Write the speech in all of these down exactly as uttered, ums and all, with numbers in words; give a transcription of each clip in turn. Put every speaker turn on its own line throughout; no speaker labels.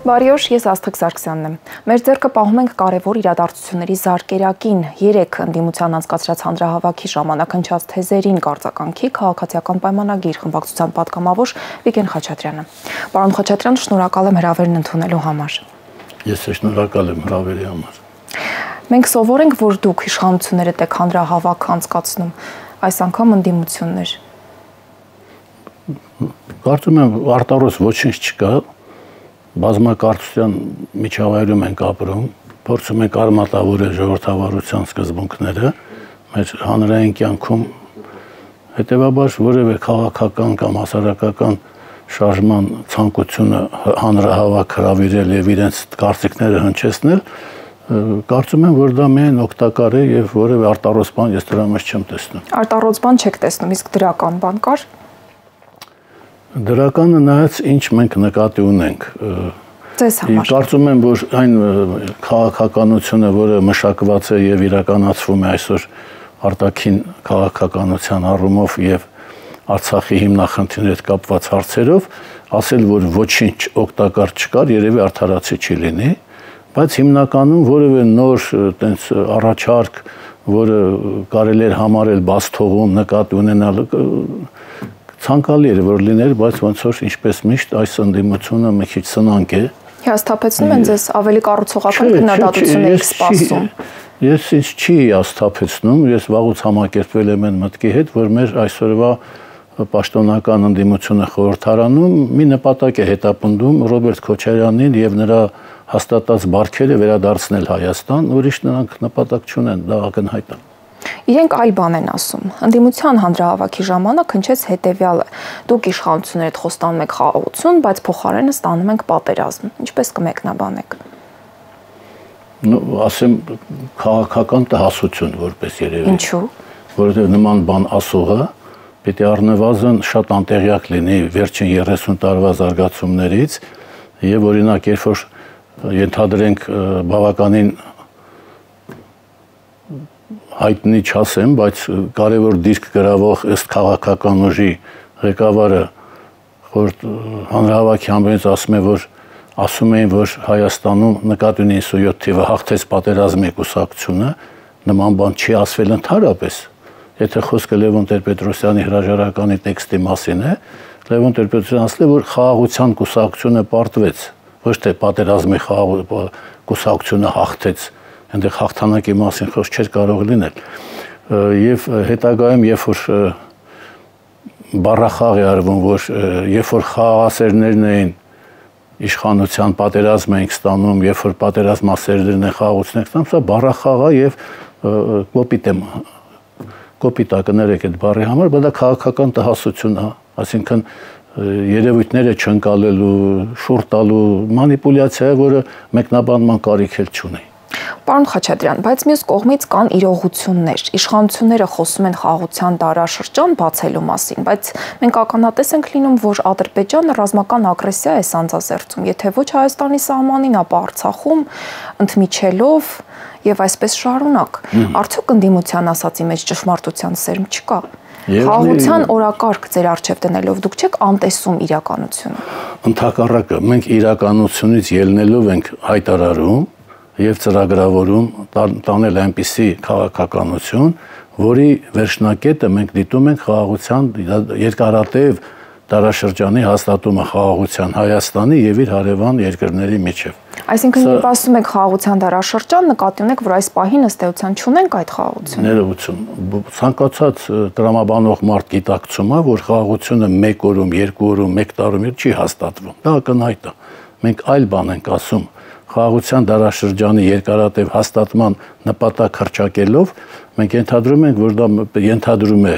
Բարի օր, ես Աստղիկ Սարգսյանն եմ։ Մեր ձեռքը պահում ենք կարևոր իրադարձությունների զարկերակին, երեք ընդդիմության անցկացրած հանրահավաքի ժամանակ հնչած թեզերին կարձականքի քաղաքացիական պայմանագիր խմբակցության պատգամավոր Վիգեն Խաչատրյանը։ Պարոն Խաչատրյան, շնորհակալ եմ հրավերն ընդունելու համար։
Ես շնորհակալ եմ հրավերի համար։
Մենք սովոր ենք, որ դուք իշխանությունները եք հանրահավաք անցկացնում, այս անգամ ընդդիմություններ։
Կարծում եմ արտարոց ոչինչ չկա, բազմակարծության միջավայրում ենք ապրում, փորձում ենք արմատավորել ժողովրդավարության սկզբունքները, մեր հանրային կյանքում հետևաբար որևէ քաղաքական կամ հասարակական շարժման ցանկությունը հանրահավաք հրավիրել եւ իրենց կարծիքները հնչեցնել, կարծում եմ, որ դա միայն օգտակար է եւ որևէ արտարոց բան ես դրա մեջ չեմ տեսնում։
Արտարոց բան չեք տեսնում, իսկ դրական բան կար։
Դրականը նայած ինչ մենք նկատի ունենք։
Ձեզ համար։
Կարծում եմ, որ այն քաղաքականությունը, որը մշակված է եւ իրականացվում է այսօր արտաքին քաղաքականության առումով եւ Արցախի հիմնախնդիրների հետ կապված հարցերով, ասել, որ ոչինչ օգտակար չկար, երևի արդարացի չի լինի, բայց հիմնականում որևէ նոր տենց առաջարկ, որը կարելի էր համարել բաց թողում, նկատի ունենալ, ցանկալի էր որ լիներ, բայց ոնց որ ինչպես միշտ այս ընդդիմությունը մի քիչ սնանկ է։
Հաստատեցնում են ձեզ ավելի կառուցողական քննադատություն եք սպասում։
Ես ինձ չի հաստատեցնում, ես վաղուց համակերպվել եմ այն մտքի հետ, որ մեր այսօրվա պաշտոնական ընդդիմությունը խորհրդարանում մի նպատակ է հետապնդում Ռոբերտ Քոչարյանին եւ նրա հաստատած բարքերը վերադարձնել Հայաստան, ուրիշ նրանք նպատակ չունեն, դա ակնհայտ է։
Իրենք այլ բան են ասում։ Ընդդիմության հանրահավաքի ժամանակ հնչեց հետևյալը. դուք իշխանությունների հետ խոստանում եք խաղաղություն, բայց փոխարենը ստանում ենք պատերազմ։ Ինչպես կմեկնաբանեք։
Ну, ասեմ քաղաքական տհասություն որպես երևի։
Ինչու՞։
Որովհետև նման բան ասողը պետք է առնվազն շատ անտեղյակ լինի վերջին երեսուն տարվա զարգացումներից եւ օրինակ երբ որ ենթադրենք բավականին հայտնի չասեմ, բայց կարևոր դիրք գրավող ըստ քաղաքական ուժի ղեկավարը հանրահավաքի համբերից ասում է, որ ասում էին, որ Հայաստանում նկատի ունի հինգսունյոթ թիվը հաղթեց պատերազմի կուսակցությունը, նման բան չի ասվել ընդհանրապես։ Եթե խոսքը Լևոն Տեր-Պետրոսյանի հրաժարականի տեքստի մասին է, Լևոն Տեր-Պետրոսյանը ասել է, որ խաղաղության կուսակցությունը պարտվեց, ոչ թե պատերազմի կուսակցությունը հաղթեց, այնտեղ հաղթանակի մասին խոսք չէր կարող լինել։ Եվ հետագայում, երբ որ բառախաղ է արվում, որ երբ որ խաղաղասերներն էին իշխանության պատերազմ ենք ստանում, երբ որ պատերազմասերներն են խաղաղություն են ստանում, սա բառախաղ է եւ կոպիտ է կոպիտ է կներեք այդ բառի համար, բայց դա քաղաքական տհասություն է, այսինքն երևույթները չընկալելու, շուռ տալու մանիպուլյացիա է, որը մեկնաբանման կարիք էլ չունի։
Պարոն Խաչատրյան, բայց մյուս կողմից կան իրողություններ։ Իշխանությունները խոսում են խաղաղության դարաշրջան բացելու մասին, բայց մենք ականատես ենք լինում, որ Ադրբեջանը ռազմական ագրեսիա է սանձազերծում, եթե ոչ Հայաստանի սահմանին, ապա Արցախում ընդմիջելով եւ այսպես շարունակ։ Արդյոք ընդդիմության ասացի մեջ ճշմարտության սերմ չկա։ Խաղաղության օրակարգ ձեր առջև դնելով դուք չեք անտեսում իրականությունը։
Ընդհակառակը, մենք իրականությունից ելնելով ենք հայտարարում եւ ծրագրավորում տանել այնպիսի քաղաքականություն, որի վերջնակետը մենք դիտում ենք խաղաղության երկարատև դարաշրջանի հաստատումը խաղաղության Հայաստանի եւ իր հարևան երկրների միջև։
Այսինքն երբ ասում եք խաղաղության դարաշրջան, նկատի ունեք, որ այս պահին ըստ էության չունենք այդ խաղաղությունը։
Ներողություն, ցանկացած տրամաբանող մարդ գիտակցում է, որ խաղաղությունը մեկ օրում, երկու օրում, մեկ տարում չի հաստատվում։ Դա ակնհայտ է։ Մենք այլ բան ենք ասում։ Խաղաղության դարաշրջանի երկարատև հաստատման նպատակ հռչակելով մենք ենթադրում ենք, որ դա ենթադրում է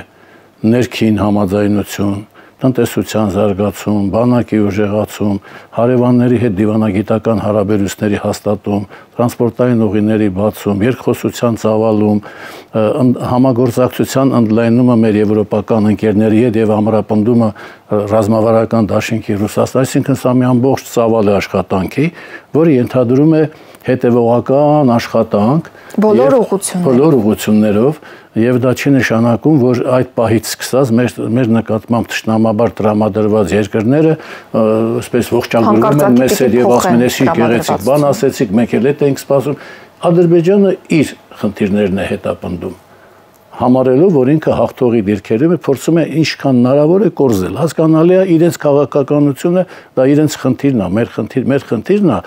ներքին համաձայնություն, տնտեսության զարգացում, բանակի ուժեղացում, հարևանների հետ դիվանագիտական հարաբերությունների հաստատում, տրանսպորտային ուղիների բացում, երկխոսության ծավալում, համագործակցության ընդլայնումը մեր եվրոպական ընկերների հետ եւ ամրապնդումը ռազմավարական դաշինքի Ռուսաստանի, այսինքն սա մի ամբողջ ծավալ է աշխատանքի, որը ենթադրում է հետևողական աշխատանք
բոլոր ուղղություններով,
բոլոր ուղղություններով եւ դա չի նշանակում, որ այդ պահից սկսած մեր մեր նկատմամբ ճշնամաբար տրամադրված երկրները այսպես ողջագրում են մեզ եւ ասում են, «Էսի գեղեցիկ բան ասեցիք, մենք էլ այդ ենք սպասում»։ Ադրբեջանը իր խնդիրներն է հետապնդում, համարելով, որ ինքը հաղթողի դիրքերում է, փորձում է ինչքան հնարավոր է կորզել։ Հասկանալի է իրենց քաղաքականությունը, դա իրենց խնդիրն է, մեր խնդիր, մեր խնդիրն է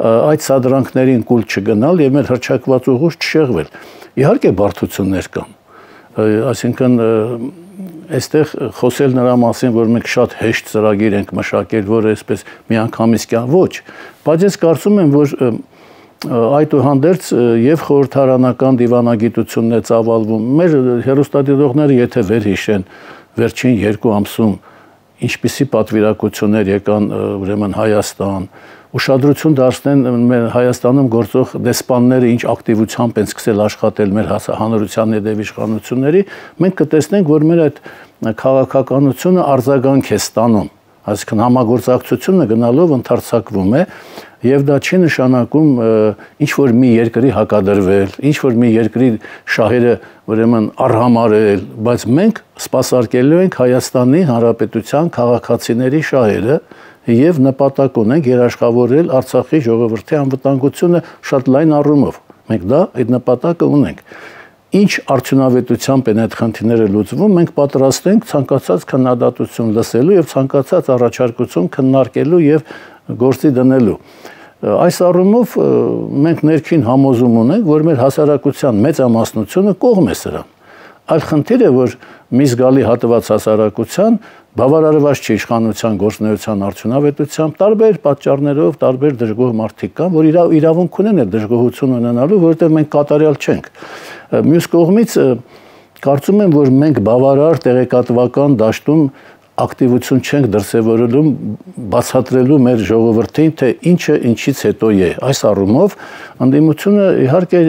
այդ սադրանքներին կուլ չգնալ եւ մեր հրճակված ուղուց չշեղվել։ Իհարկե բարդություններ կան, այսինքն այստեղ խոսել նրա մասին, որ մենք շատ հեշտ ծրագիր ենք մշակել, որ այսպես միանգամից կան, ոչ, բայց ես կարծում եմ, որ այդուհանդերձ եւ խորհրդարանական դիվանագիտությունն է ծավալվում։ Մեր հեռուստադիտողները եթե վերհիշեն վերջին երկու ամսում ինչպիսի պատվիրակություններ եկան ուրեմն Հայաստան, ուշադրություն դարձնեն մեր Հայաստանում գործող դեսպանները ինչ ակտիվությամբ են սկսել աշխատել մեր հանրության ներդև իշխանությունների, մենք կտեսնենք, որ մեր այդ քաղաքականությունը արձագանք է ստանում, այսինքն համագործակցությունը գնալով ընդարձակվում է եւ դա չի նշանակում ինչ որ մի երկրի հակադրվել, ինչ որ մի երկրի շահերը ուրեմն արհամարել, բայց մենք սպասարկելու ենք Հայաստանի Հանրապետության քաղաքացիների շահերը եւ նպատակ ունենք երաշխավորել Արցախի ժողովրդի անվտանգությունը շատ լայն առումով։ Մենք դա այդ նպատակը ունենք։ Ինչ արդյունավետությամբ են այդ խնդիրները լուծվում, մենք պատրաստ ենք ցանկացած քննադատություն լսելու եւ ցանկացած առաջարկություն քննարկելու եւ գործի դնելու։ Այս առումով մենք ներքին համոզում ունենք, որ մեր հասարակության մեծամասնությունը կողմ է սրան։ Այլ խնդիրը, որ մի զգալի հատված հասարակության բավարարված չի իշխանության գործունեության արդյունավետությամբ, տարբեր պատճառներով, տարբեր դժգոհ մարդիկ կան, որ իրավունք ունեն այդ դժգոհություն ունենալու, որովհետև մենք կատարյալ չենք։ Մյուս կողմից կարծում եմ, որ մենք բավարար տեղեկատվական դաշտում ակտիվություն չենք դրսևորելու բացատրելու մեր ժողովրդին, թե ինչը ինչից հետո է։ Այս առումով ընդդիմությունը իհարկե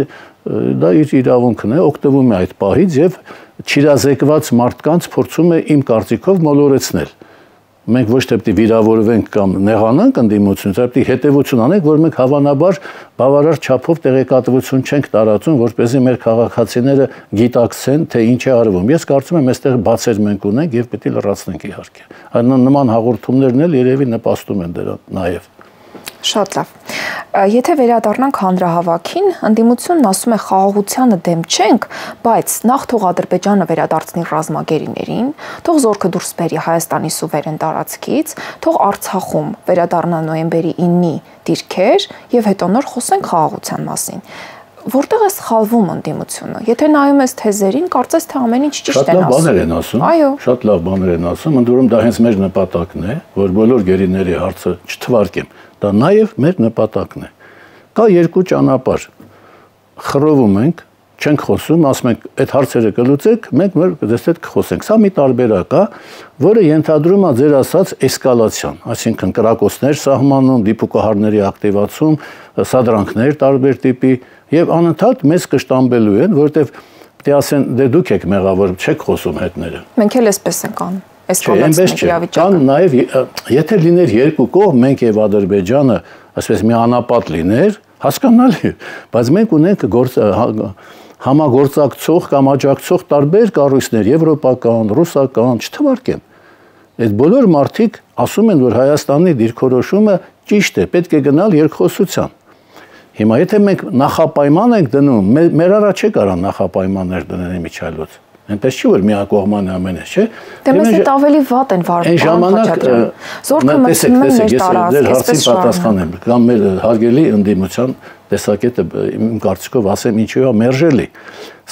դա իր իրավունքն է, օգտվում է այդ պահից եւ չիրազեկված մարդկանց փորձում է իմ կարծիքով մոլորեցնել։ Մենք ոչ թե պետք է վիրավորվենք կամ նեղանանք ընդդիմությունից, այլ պետք է հետևություն անենք, որ մենք հավանաբար բավարար չափով տեղեկատվություն չենք տարածում, որպեսզի մեր քաղաքացիները գիտակցեն, թե ինչ է արվում։ Ես կարծում եմ, այստեղ բացեր մենք ունենք եւ պետք է լրացնենք իհարկե։ Այն նման հաղորդումներն էլ երևի նպաստում են դրան նաեւ։
Շատ լավ։ Եթե վերադառնանք հանրահավաքին, ընդդիմությունն ասում է խաղաղությանը դեմ չենք, բայց նախ թող Ադրբեջանը վերադարձնի ռազմագերիներին, թող զորքը դուրս բերի Հայաստանի սուվերեն տարածքից, թող Արցախում վերադառնա նոյեմբերի իննի դիրքեր եւ հետո նոր խոսենք խաղաղության մասին։ Որտեղ է սխալվում ընդդիմությունը։ Եթե նայում ես թեզերին, կարծես թե ամեն ինչ ճիշտ են ասում։
Շատ լավ բաներ են ասում։
Այո։
Շատ լավ բաներ են ասում, ընդ որում դա հենց մեր նպատակն է, որ բոլոր գերիների հարցը չթվարկեմ։ Դա նաև մեր նպատակն է։ Կա երկու ճանապարհ։ Խռովում ենք, չենք խոսում, ասում ենք, այդ հարցերը կլուծեք, մենք մեր դες հետ կխոսենք։ Սա մի տարբերակ է, որը ենթադրում է ձեր ասած էսկալացիան, այսինքն կրակոցներ սահմանում, դիպուկահարների ակտիվացում, սադրանքներ տարբեր տիպի եւ անընդհատ մեզ կշտամբելու են, որովհետեւ պետք է ասեն, դե դուք եք մեղավոր, չեք խոսում հետները։
Մենք էլ էսպես ենք անում։
Էսկալացիան իրավիճակը։ Կան նաեւ եթե լիներ երկու կողմ, մենք եւ Ադրբեջանը, ասես մի անապատ լիներ, հասկանալի, բայց մենք ունենք գործ համագործակցող կամ աջակցող տարբեր կառույցներ, եվրոպական, ռուսական, չթվարկեմ։ Այդ բոլոր մարդիկ ասում են, որ Հայաստանի դիրքորոշումը ճիշտ է, պետք է գնալ երկխոսության։ Հիմա եթե մենք նախապայման ենք դնում, մեր առաջ է կարան նախապայմաններ դնել միջայլոց։ Այնպես չի, որ միակողման ամեն ինչ, չէ։
Դե մեզ հետ ավելի վատ են վարվում։
Այն ժամանակ
զորքը մտնում է մեր տարածք,
այսպես պատասխանեմ, կամ մեր հարգելի ընդդիմության տեսակետը իմ կարծիքով ասեմ ինչու է մերժելի։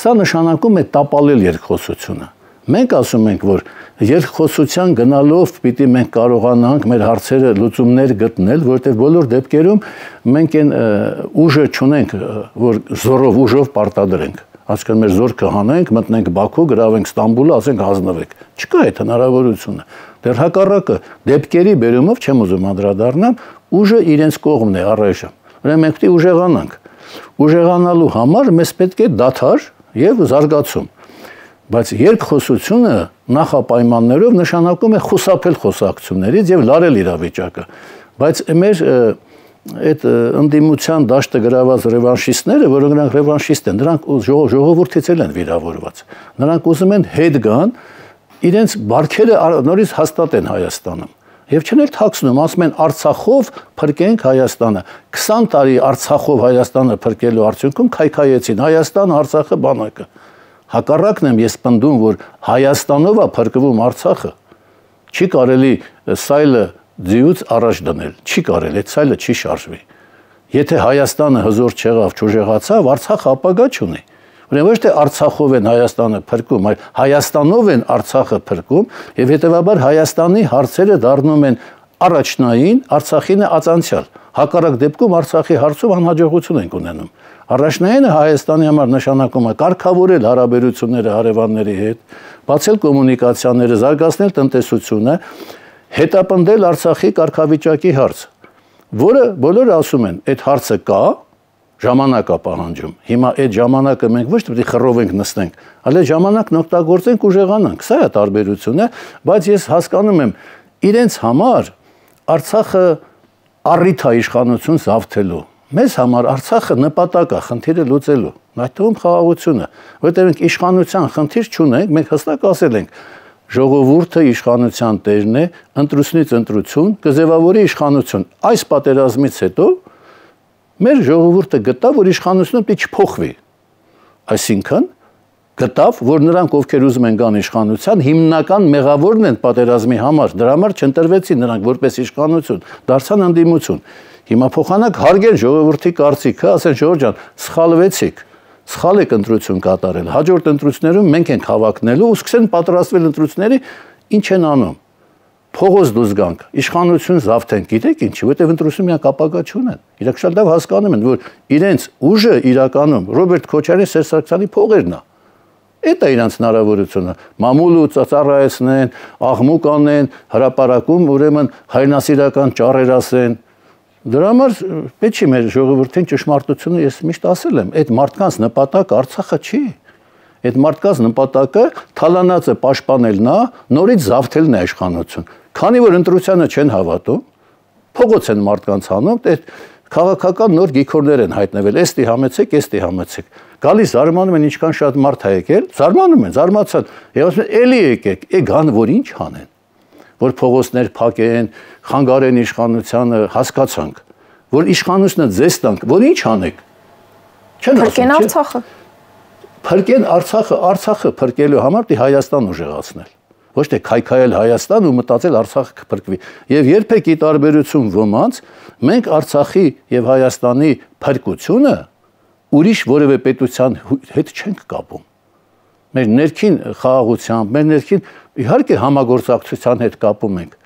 Սա նշանակում է տապալել երկխոսությունը։ Մենք ասում ենք, որ երկխոսության գնալով պիտի մենք կարողանանք մեր հարցերը լուծումներ գտնել, որտեղ բոլոր դեպքերում մենք այն ուժը չունենք, որ զորով ուժով պարտադրենք։ Այսինքն մեր զորքը հանենք, մտնենք Բաքու, գրավենք Ստամբուլը, ասենք հանձնվեք։ Չկա այդ հնարավորությունը։ Դեռ հակառակը դեպքերի բերումով չեմ ուզում անդրադառնամ, ուժը իրենց կողմն է առայժմ։ Ուրեմն մենք պետք է ուժեղանանք։ Ուժեղանալու համար մեզ պետք է դադար եւ զարգացում։ Բայց երկխոսությունը նախապայմաններով նշանակում է խուսափել խոսակցություններից եւ լարել իրավիճակը։ Բայց մեր այդ ընդդիմության դաշտը գրաված ռևանշիստները, որոնք նրանք ռևանշիստ են, նրանք ժողովրդից էլ են վիրավորված։ Նրանք ուզում են հետ գան, իրենց բարքերը նորից հաստատեն Հայաստանում։ Եվ չեն էլ թաքցնում, ասում են Արցախով փրկենք Հայաստանը։ քսան տարի Արցախով Հայաստանը փրկելու արդյունքում քայքայեցին Հայաստան, Արցախը, բանակը։ Հակառակն եմ ես պնդում, որ Հայաստանով է փրկվում Արցախը։ Չի կարելի սայլը ձիուց առաջ դնել, չի կարելի, այդ սայլը չի շարժվի։ Եթե Հայաստանը հզոր չեղավ, չուժեղացավ, Արցախը ապագա չունի։ Ուրեմն ոչ թե Արցախով են Հայաստանը փրկում, այլ Հայաստանով են Արցախը փրկում, եւ հետեւաբար Հայաստանի հարցերը դառնում են առաջնային, Արցախինը ածանցյալ։ Հակառակ դեպքում Արցախի հարցում անհաջողություն ենք ունենում։ Առաջնայինը Հայաստանի համար նշանակում է կարգավորել հարաբերությունները հարևանների հետ, բացել կոմունիկացիաները, զարգացնել տնտեսությունը, հետապնդել Արցախի կարգավիճակի հարց, որը բոլորը ասում են, այդ հարցը կա, ժամանակ է պահանջում։ Հիմա այդ ժամանակը մենք ոչ թե խռով ենք նստենք, այլ այդ ժամանակն օգտագործենք ուժեղանանք։ Սա է տարբերությունը, բայց ես հասկանում եմ, իրենց համար Արցախը առիթ է իշխանություն զավթելու։ Մեզ համար Արցախը նպատակ է խնդիրը լուծելու։ Այդ թվում խաղաղությունը, որտեղ մենք իշխանության խնդիր չունենք, մենք հստակ ասել ենք, ժողովուրդը իշխանության տերն է, ընտրությունից ընտրություն, կձևավորի իշխանություն։ Այս պատերազմից հետո մեր ժողովուրդը գտավ, որ իշխանությունը պետք է չփոխվի։ Այսինքն գտավ, որ նրանք, ովքեր ուզում են գան իշխանության, հիմնական մեղավորն են պատերազմի համար, դրա համար չընտրվեցին նրանք որպես իշխանություն, դարձան ընդդիմություն։ Հիմա փոխանակ հարգեն ժողովրդի կարծիքը, ասեն Ժորժ ջան, սխալվեցիք, սխալ եք ընտրություն կատարել, հաջորդ ընտրություններում մենք ենք հավակնելու ու սկսեն պատրաստվել ընտրությունների, ինչ են անում։ Փողոց դուրս գանք, իշխանություն զավթեն, գիտեք ինչի, որտեղ ընտրություն միակ ապագա չունեն։ Իրենք շատ լավ հասկանում են, որ իրենց ուժը իրականում Ռոբերտ Քոչարյանի, Սերժ Սարգսյանի փողերն է։ Այդ է իրենց հնարավորությունը։ Մամուլը ծառայեցնեն, աղմուկ անեն, հրապարակում ուրեմն հայրենասիրական ճառեր ասեն։ Դրա համար պետք չի մեր ժողովրդին ճշմարտությունը ես միշտ ասել եմ, այդ մարդկանց նպատակը Արցախը չի։ Այդ մարդկանց նպատակը թալանածը պաշտպանելն է, նորից զավթելն է իշխանություն։ Քանի որ ընտրությանը չեն հավատում, փողոց են մարդկանց հանում, այդ քաղաքական նոր գիքորներ են հայտնվել, էստի համեցեք, էստի համեցեք։ Գալիս զարմանում են ինչքան շատ մարդ է եկել, զարմանում են, զարմացան։ Եվ ասում են, էլի եկեք, է գան որ ինչ անեն, որ փողոցներ փակեն, խանգարեն իշխանությանը, հասկացանք, որ իշխանությունը ձեզ տանք, որ ինչ անեք։ Չեն ասում,
Փրկեն Արցախը։
Փրկեն Արցախը, Արցախը փրկելու համար պետք է Հայաստան ուժեղացնել։ Ոչ թե քայքայել Հայաստան ու մտածել Արցախը կփրկվի։ Եվ երբեք ի տարբերություն ոմանց մենք Արցախի եւ Հայաստանի փրկությունը ուրիշ որևէ պետության հետ չենք կապում։ Մեր ներքին խաղաղությամբ, մեր ներքին իհարկե համագործակցության հետ կապում ենք,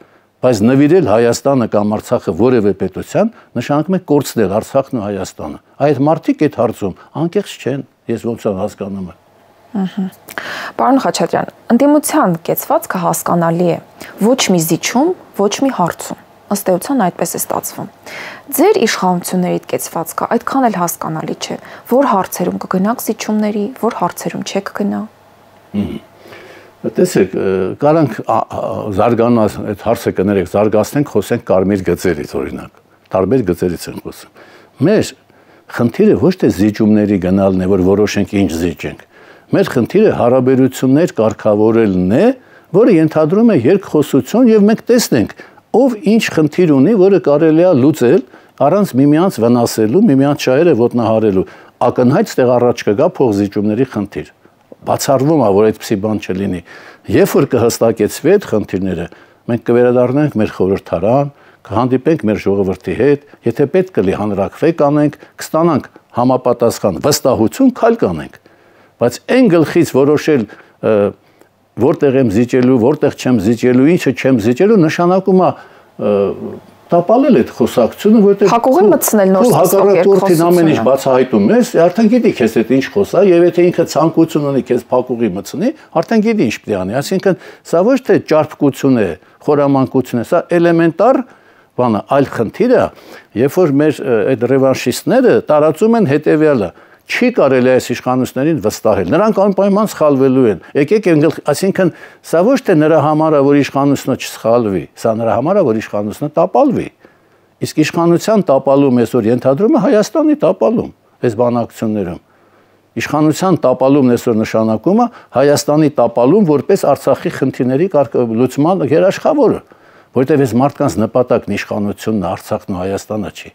բայց նվիրել Հայաստանը կամ Արցախը որևէ պետության նշանակում է կորցնել Արցախն ու Հայաստանը։ Այդ մարդիկ այդ հարցում անկեղծ չեն, ես ոնց եմ հասկանում եմ։
Պարոն Խաչատրյան, ընդդիմության կեցվածքը հասկանալի է, ոչ մի զիջում, ոչ մի հարցում։ Ըստ էության այդպես է ստացվում։ Ձեր իշխանությունների կեցվածքը այդքան էլ հասկանալի չէ, որ հարցերում կգնաք զիջումների, որ հարցերում չեք գնա։
Տեսեք, կարանք զարգանալ, այդ հարցը կներեք, զարգացնենք, խոսենք կարմիր գծերից օրինակ, տարբեր գծերից են խոսում։ Մեր խնդիրը ոչ թե զիջումների գնալն է, որ որոշենք ինչ զիջենք։ Մեր խնդիրը հարաբերություններ կարգավորելն է, որը ենթադրում է երկխոսություն եւ մենք տեսնենք, ով ինչ խնդիր ունի, որը կարելի է լուծել առանց միմյանց վնասելու, միմյանց շահերը ոտնահարելու։ Ակնհայտ ստեղ առաջ կգա փոխզիջումների խնդիր։ Բացառվում է, որ այդպիսի բան չլինի։ Երբ որ կհստակեցվի այդ խնդիրները, մենք կվերադառնանք մեր խորհրդարան, կհանդիպենք մեր ժողովրդի հետ, եթե պետք կլի հանրակրվեք անենք, կստանանք համապատասխան վստահություն, քայլ կանենք։ Բայց այն գլխից որոշել որտեղ եմ զիջելու, որտեղ չեմ զիջելու, ինչը չեմ զիջելու, նշանակում է տապալել այդ խոսակցությունը, որտեղ
հակողի մտցնել նոր
հակառակորդին ամեն ինչ բացահայտում ես, արդեն գիտի քեզ այդ ինչ խոսա, եւ եթե ինքը ցանկություն ունի քեզ փակուղի մտցնի, արդեն գիտի ինչ պետք է անի։ Այսինքն սա ոչ թե ճարպկություն է, խորամանկություն է, սա էլեմենտար բան է, այլ խնդիրը, երբ որ մեր այդ ռևանշիստները տարածում են հետեւյալը, չի կարելի այս իշխանություններին վստահել։ Նրանք անպայման սխալվելու են։ Եկեք ընկել, այսինքն սա ոչ թե նրա համար է, որ իշխանությունը չսխալվի, սա նրա համար է, որ իշխանությունը տապալվի։ Իսկ իշխանության տապալում այսօր ենթադրում է Հայաստանի տապալում այս բանակցություններում։ Իշխանության տապալումն այսօր նշանակում է Հայաստանի տապալում որպես Արցախի խնդիրների լուծման երաշխավորը, որտեղ այս մարդկանց նպատակն իշխանությունն է, Արցախն ու Հայաստանը չի։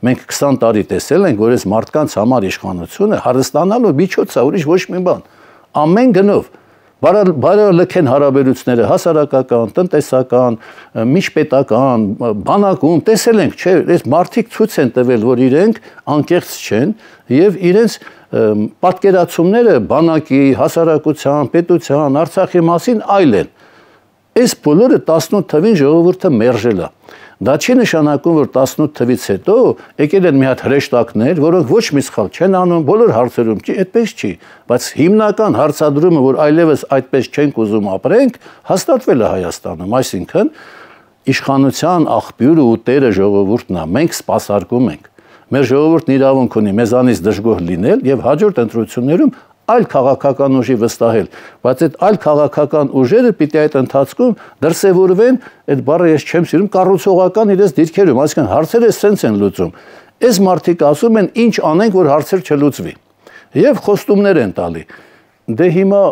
Մենք քսան տարի տեսել ենք, որ այս մարդկանց համար իշխանությունը հարստանալու միջոց է, ուրիշ ոչ մի բան։ Ամեն գնով բարելքեն հարաբերությունները հասարակական, տնտեսական, միջպետական, բանակում տեսել ենք, չէ, այս մարդիկ ցույց են տվել, որ իրենք անկեղծ չեն եւ իրենց պատկերացումները բանակի, հասարակության, պետության, Արցախի մասին այլ են։ Այս բոլորը տասնութ թվին ժողովուրդը մերժել է։ Դա չի նշանակում, որ տասնութ թվից հետո եկել են մի հատ հրեշտակներ, որոնք ոչ մի սխալ չեն անում, բոլոր հարցերում չի, այդպես չի, բայց հիմնական հարցադրումը, որ այլևս այդպես չենք ուզում ապրենք, հաստատվել է Հայաստանում, այսինքն իշխանության աղբյուրը ու տերը ժողովուրդն է, մենք սպասարկում ենք։ Մեր ժողովուրդն իրավունք ունի մեզանից դժգոհ լինել եւ հաջորդ ընտրություններում այլ քաղաքական ուժի վստահել, բայց այդ այլ քաղաքական ուժերը պիտի այդ ընթացքում դրսևորվեն, այդ բառը ես չեմ սիրում, կառուցողական իրենց դիրքերում, այսինքն հարցերը սենց են լուծում։ Այս մարդիկ ասում են ինչ անենք, որ հարցեր չլուծվի։ Եվ խոստումներ են տալի։ Դե հիմա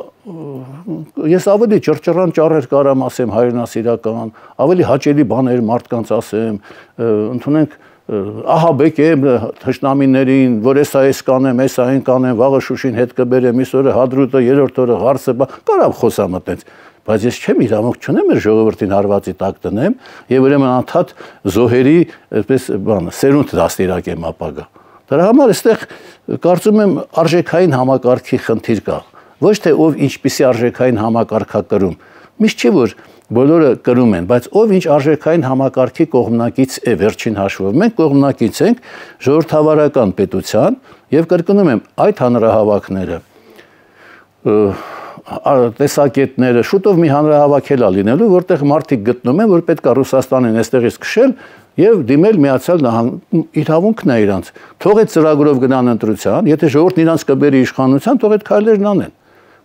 ես ավելի ճռճռան ճառեր կարամ ասեմ հայրենասիրական, ավելի հաճելի բաներ մարդկանց ասեմ, ընդունենք ահաբեկ եմ թշնամիներին, որ էսա էս կանեմ, էսա այն կանեմ, վաղը Շուշին հետ կբերեմ, այսօրը Հադրուտը, երրորդ օրը Ղարսը, կարամ խոսամ այդպես, բայց ես չեմ իրավունք չունեմ մեր ժողովրդին հարվածի տակ տնեմ եւ ուրեմն անդադ զոհերի այսպես բանը սերունդ դաստիարակեմ ապագա։ Դրա համար այստեղ կարծում եմ արժեքային համակարգի խնդիր կա, ոչ թե ով ինչպիսի արժեքային համակարգ է կրում, միշտ չի որ բոլորը կրում են, բայց ով ինչ արժեքային համակարգի կողմնակից է վերջին հաշվով։ Մենք կողմնակից ենք ժողովրդավարական պետության եւ կրկնում եմ այդ հանրահավաքները տեսակետները շուտով մի հանրահավաքել է լինելու, որտեղ մարդիկ գտնում են, որ պետք է Ռուսաստանին այստեղից քշել եւ դիմել Միացյալ Նահանգ իրավունքն է իրանց։ Թող այդ ծրագրով գնան ընտրության, եթե ժողովուրդն իրանց կբերի իշխանության, թող այդ քայլերն անեն։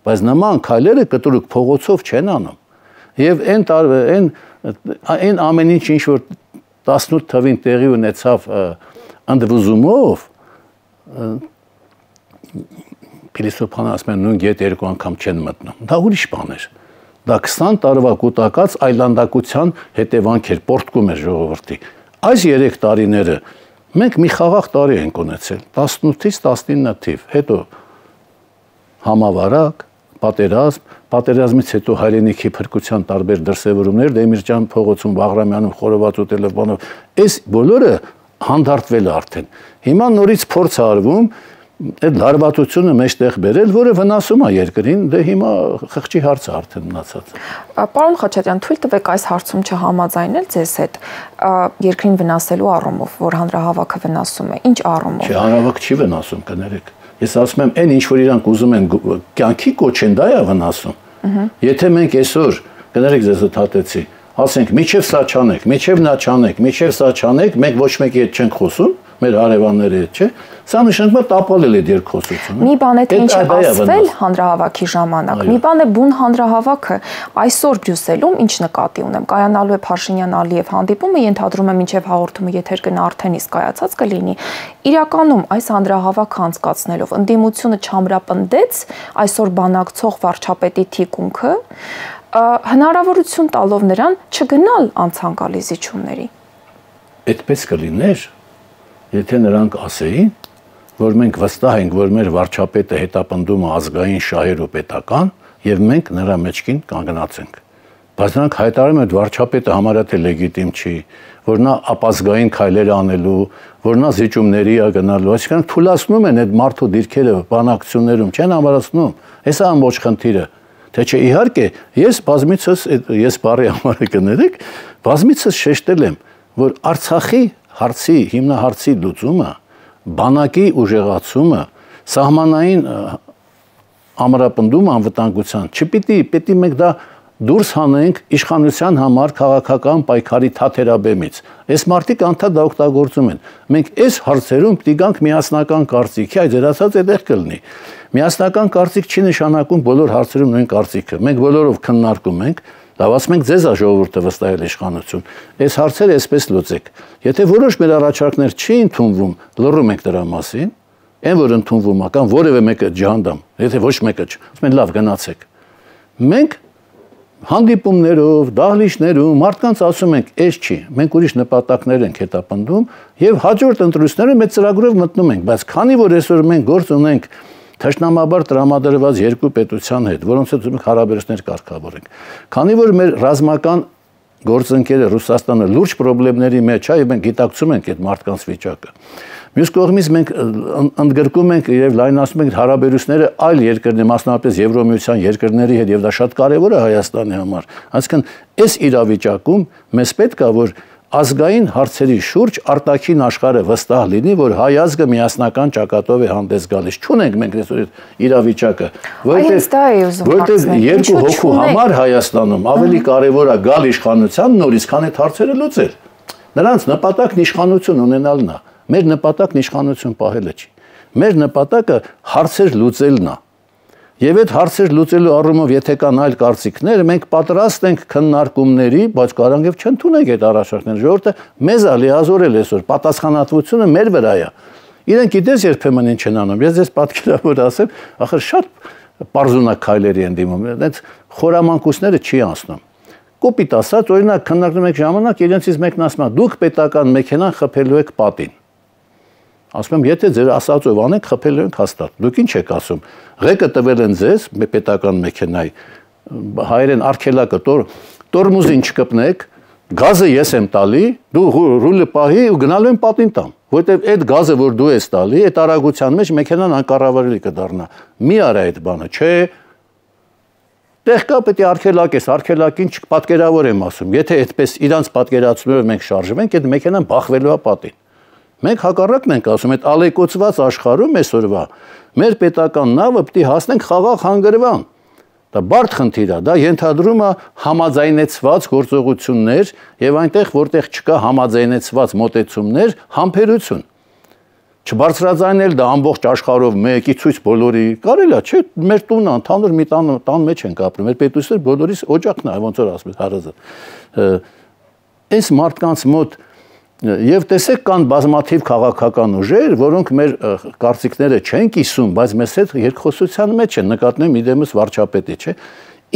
Բայց նման քայլերը կտրուկ փողոցով չեն անում։ Եվ այն այն այն ամեն ինչ ինչ որ տասնութ թվին տեղի ունեցավ ընդվզումով փիլիսոփան ասում են նույն գետ երկու անգամ չեն մտնում։ Դա ուրիշ բան էր։ Դա քսան տարվա կուտակած այլանդակության հետևանք էր, պորտկում էր ժողովրդի։ Այս երեք տարիները մենք մի խաղաղ տարի ենք ունեցել, տասնութից տասնինը թիվ, հետո համավարակ, պատերազմ, պատերազմից հետո հայրենիքի փրկության տարբեր դրսևորումներ, Դեմիրճան փողոցում, Բաղրամյանում խորոված ուտելով բանով, այս բոլորը հանդարտվել է արդեն։ Հիմա նորից փորձ է արվում այդ լարվածությունը մեջտեղ բերել, որը վնասում է երկրին, դե հիմա խղճի հարց է արդեն մնացած։
Պարոն Խաչատրյան, թույլ տվեք այս հարցում չհամաձայնել ձեզ հետ երկրին վնասելու առումով, որ հանրահավաքը վնասում է, ինչ առումով։
Չէ, հանրահավաք չի վնասում, կներեք։ Ես ասում եմ, այն ինչ որ իրանք ուզում են կյանքի կոչեն, դա է վնասում։ Եթե մենք այսօր, կներեք ձեզ հթատեցի, ասենք, միջև սա չանեք, միջև նա չանեք, միջև սա չանեք, մենք ոչ մեկի հետ չենք խոսում, մեր հարևանների հետ, չէ։ Սա նշանակում է տապալել է երկխոսությունը։
Մի բան է թե ինչ է ասվել հանրահավաքի ժամանակ, մի բան է բուն հանրահավաքը այսօր Բրյուսելում, ինչ նկատի ունեմ, կայանալու է Փաշինյան-Ալիև հանդիպումը, ենթադրում եմ մինչև հաղորդումը եթեր գնա արդեն իսկ կայացած կլինի։ Իրականում այս հանրահավաքը անցկացնելով ընդդիմությունը չամրապնդեց այսօր բանակցող վարչապետի թիկունքը, հնարավորություն տալով նրան չգնալ անցանկալի զիջումների։
Այդպես կլիներ, եթե նրանք ասեին, որ մենք վստահ ենք, որ մեր վարչապետը հետապնդում է ազգային շահեր ու պետական, եւ մենք նրա մեջքին կանգնած ենք։ Բայց նրանք հայտարարում են, որ վարչապետը համարյա թե լեգիտիմ չի, որ նա ապազգային քայլեր անելու, որ նա զիջումների է գնալու, այսինքն թույլատնում են այդ մարդու դիրքերը բանակցություններում, չեն ամրացնում։ Հեսա ամբողջ խնդիրը։ Թե չէ իհարկե, ես բազմիցս ես բարի համար կներեք, բազմիցս շեշտել եմ, որ Արցախի հարցի հիմնահարցի լուծումը, բանակի ուժեղացումը, սահմանային ամրապնդում անվտանգության, չպիտի, պիտի մենք դա դուրս հանենք իշխանության համար քաղաքական պայքարի թաթերաբեմից։ Այս մարդիկ անդադ դա օգտագործում են։ Մենք այս հարցերում պիտի գանք միասնական կարծիքի, այդ ձեր ասած այդտեղ կլինի։ Միասնական կարծիք չի նշանակում բոլոր հարցերում նույն կարծիքը։ Մենք բոլորով քննարկում ենք, Լավ, ասում ենք ձեզ է ժողովուրդը վստահել իշխանություն։ Այս հարցերը այսպես լուծեք։ Եթե որոշ մեր առաջարկներ չի ընդունվում, լռում ենք դրա մասին, այն որ ընդունվում է կամ որևէ մեկը ջհանդամ, եթե ոչ մեկը չ, ասում են լավ գնացեք։ Մենք հանդիպումներով, դահլիճներում մարդկանց ասում ենք, այս չի, մենք ուրիշ նպատակներ ենք հետապնդում եւ հաջորդ ընտրությունները մեծ ծրագրով մտնում ենք, բայց քանի որ այսօր մենք գործ ունենք թշնամաբար տրամադրված երկու պետության հետ, որոնց հետ մենք հարաբերություններ կարգավորենք։ Քանի որ մեր ռազմական գործընկերը Ռուսաստանը լուրջ խնդիրների մեջ է, եւ մենք գիտակցում ենք այդ մարդկանց վիճակը։ Մյուս կողմից մենք ընդգրկում ենք եւ լայնացնում ենք հարաբերությունները այլ երկրների, մասնավորապես Եվրոմիության երկրների հետ, եւ դա շատ կարեւոր է Հայաստանի համար։ Այսինքն, այս իրավիճակում մեզ պետք է որ ազգային հարցերի շուրջ արտաքին աշխարհը վստահ լինի, որ հայ ազգը միասնական ճակատով է հանդես գալիս։ Չունենք մենք այսօր իրավիճակը, որտեղ երկու հոգու համար Հայաստանում ավելի կարևոր է գալ իշխանության նորից, քան այդ հարցերը լուծել։ Նրանց նպատակն իշխանություն ունենալն է, մեր նպատակն իշխանություն պահելը չի։ Մեր նպատակը հարցեր լուծելն է։ Եվ այդ հարցեր լուծելու առումով եթե կան այլ կարծիքներ, մենք պատրաստ ենք քննարկումների, բայց կարող եւ չընդունենք այդ առաջարկները։ Ժողովուրդը մեզ է լիազորել այսօր, պատասխանատվությունը մեր վրա է։ Իրենք գիտես երբեմն ինչ են անում։ Ես ձեզ պատկերավոր ասեմ, ախր շատ պարզունակ քայլերի են դիմում, այդպես խորամանկությունները չի անցնում։ Կոպիտ ասած, օրինակ քննարկում եք ժամանակ, իրենցից մեկն ասում է՝ դուք պետական մեքենան խփելու եք պատին։ Ասում եմ, եթե ձեր ասածով անենք, խփելու ենք հաստատ։ Դուք ինչ եք ասում։ Ղեկը տվել են ձեզ պետական մեքենայի, հայերեն արգելակը տորմուզին չկպնեք, գազը ես եմ տալի, դու ռուլը պահի ու գնալու եմ պատին տամ, որտեղ այդ գազը, որ դու ես տալի, այդ արագության մեջ մեքենան անկառավարելի կդառնա։ Մի արա այդ բանը, չէ։ Տեղ կա պետք է արգելակ ես, արգելակին չպատկերավոր եմ ասում։ Եթե այդպես իրանց պատկերացումով մենք շարժվենք, այդ մեքենան բախվելու է պատին։ Մենք հակառակն ենք ասում, այդ ալեկոծված աշխարհում այսօրվա մեր պետական նավը պետք է հասնենք խաղաղ հանգրվան։ Դա բարդ խնդիր է, դա ենթադրում է համաձայնեցված գործողություններ եւ այնտեղ, որտեղ չկա համաձայնեցված մոտեցումներ, համբերություն։ Չբարձրաձայնել դա ամբողջ աշխարհով մեկի ցույց բոլորի կարելի է, չէ՞, մեր տունը ընդհանուր մի տան տան մեջ ենք ապրում, մեր պետությունը բոլորիս օջակն է, ոնց որ ասում են հարազը։ Այս մարդկանց մոտ Եվ տեսեք կան բազմաթիվ քաղաքական ուժեր, որոնք մեր կարծիքները չեն կիսում, բայց մեզ հետ երկխոսության մեջ են, նկատնում իդեմս վարչապետի, չէ։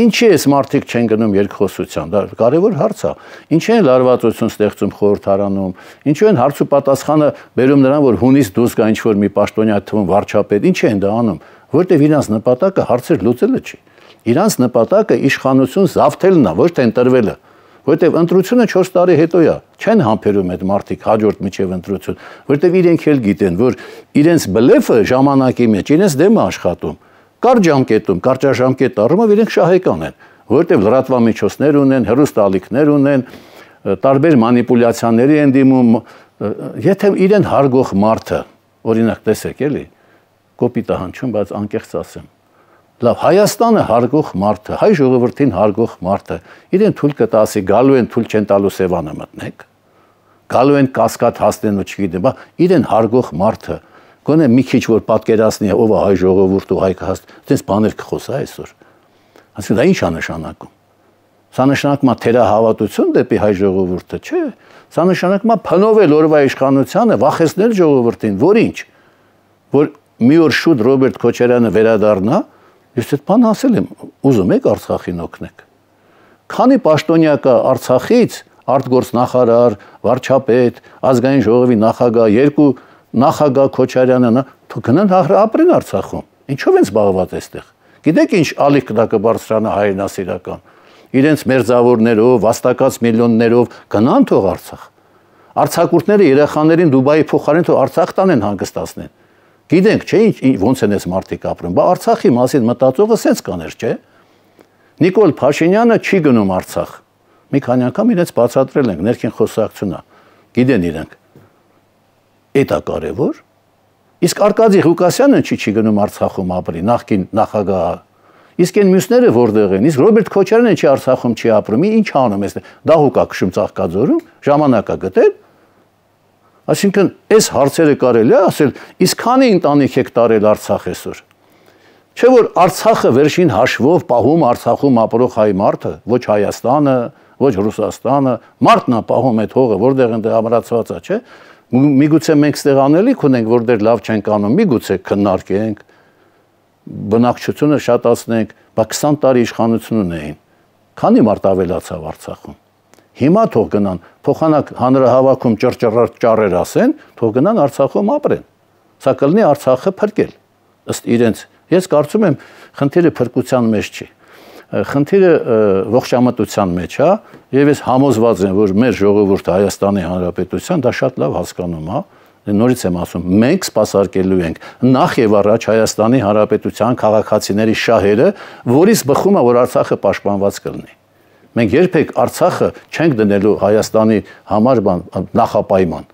Ինչի էս մարդիկ չեն գնում երկխոսության, դա կարևոր հարց է։ Ինչի են լարվածություն ստեղծում խորհրդարանում, ինչու են հարց ու պատասխանը բերում նրան, որ հունից դուրս գա ինչ-որ մի պաշտոնյա թվում վարչապետ, ինչի են դա անում, որտեղ իրանց նպատակը հարցեր լուծելը չի։ Իրանց նպատակը իշխանություն զավթելն է, ոչ թե ընտրվելը։ Որտեւ ընտրությունը չորս տարի հետո է, չեն համբերում այդ մարդիկ հաջորդ միջև ընտրություն, որտեւ իրենք էլ գիտեն, որ իրենց բլեֆը ժամանակի մեջ իրենց դեմ է աշխատում, կար ժամկետում, կարճաժամկետ առումով իրենք շահեկան են, որտեւ լրատվամիջոցներ ունեն, հեռուստաալիքներ ունեն, տարբեր մանիպուլյացիաների են դիմում, եթե իրեն հարգող մարդը, օրինակ տեսեք էլի, կոպիտ է հնչում, բայց անկեղծ ասեմ Լավ, Հայաստանը հարգող մարդը, հայ ժողովրդին հարգող մարդը, իրեն թույլ կտասի, գալու են թույլ չեն տալու Սևանը մտնեք, գալու են կասկադ հասնեն ու չգիտեմ, բա իրեն հարգող մարդը, գոնե մի քիչ որ պատկերացնի ով է հայ ժողովուրդ ու հայ կհաստ, այդպես բաներ կխոսա այսօր։ Այսինքն դա ինչ է նշանակում։ Սա նշանակում է թերահավատություն դեպի հայ ժողովուրդը, չէ։ Սա նշանակում է փնովել օրվա իշխանությանը, վախեցնել ժողովրդին, որ ինչ, որ մի օր շուտ Ռոբերտ Քոչարյանը վերադառնա Ես այդ բանը ասել եմ, ուզում եք Արցախին օգնեք։ Քանի պաշտոնյա կա Արցախից, արտգործ նախարար, վարչապետ, ազգային ժողովի նախագահ, երկու նախագահ Քոչարյանը, գնան ապրեն Արցախում։ Ինչով են զբաղված այստեղ։ Գիտեք ինչ ալիք դա կբարձրանա հայրենասիրական։ Իրենց մերձավորներով, վաստակած միլիոններով գնան թող Արցախ։ Արցակուրտները երեխաներին Դուբայի փոխարեն թող Արցախ տանեն հանգստացնեն։ Գիտենք, չէ, ոնց են այս մարդիկ ապրում, բա Արցախի մասին մտածողը սենց կաներ, չէ։ Նիկոլ Փաշինյանը չի գնում Արցախ։ Մի քանի անգամ իրենց բացատրել ենք, ներքին խոսակցությունն է։ Գիտեն իրենք։ Էդ է կարևոր։ Իսկ Արկադի Ղուկասյանը չի չի գնում Արցախում ապրի, նախկին նախագահը։ Իսկ այն մյուսները որտեղ են։ Իսկ Ռոբերտ Քոչարյանը չի Արցախում չի ապրում, ինչ անում էս։ Դահուկա քշում Ծաղկաձորում, ժամանակա գտել։ Այսինքն այս հարցերը կարելի է ասել, իսկ քանի ընտանիք եք տարել Արցախ այսօր։ Չէ՞ որ Արցախը վերջին հաշվով պահում Արցախում ապրող հայ մարդը, ոչ Հայաստանը, ոչ Ռուսաստանը, մարդն է պահում այդ հողը, որտեղ ընդ ամրացված է, չէ՞։ Միգուցե մենք ստեղ անելիք ունենք, որտեղ լավ չենք անում, միգուցե քննարկենք, բնակչությունը շատացնենք, բայց քսան տարի իշխանություն ունեին։ Քանի մարդ ավելացավ Արցախում։ Հիմա թող գնան, փոխանակ հանրահավաքում ճռճռար ճառեր ասեն, թող գնան Արցախում ապրեն։ Սա կլինի Արցախը փրկել։ Ըստ իրենց, ես կարծում եմ, խնդիրը փրկության մեջ չի։ Խնդիրը ողջամտության մեջ է, եւ ես համոզված եմ, որ մեր ժողովուրդը Հայաստանի Հանրապետության դա շատ լավ հասկանում է։ Նորից եմ ասում, մենք սպասարկելու ենք նախ եւ առաջ Հայաստանի Հանրապետության քաղաքացիների շահերը, որից բխում է, որ Արցախը պաշտպանված կլինի։ Մենք երբեք Արցախը չենք դնելու Հայաստանի համար նախապայման։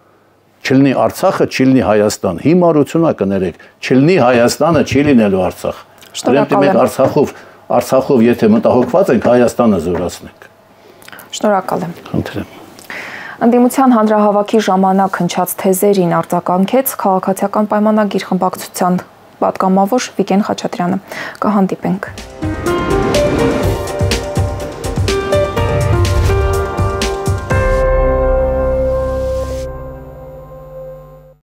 Չլինի Արցախը, չլինի Հայաստան։ Հիմարությունա կներեք, չլինի Հայաստանը, չի լինելու Արցախ։ Ուրեմն մենք Արցախով, Արցախով եթե մտահոգված ենք, Հայաստանը զորացնենք։
Շնորհակալ եմ։
Խնդրեմ։
Ընդդիմության հանրահավաքի ժամանակ հնչած թեզերին արձագանքեց քաղաքացիական պայմանագիր խմբակցության պատգամավոր Վիգեն Խաչատրյանը։ Կհանդիպենք։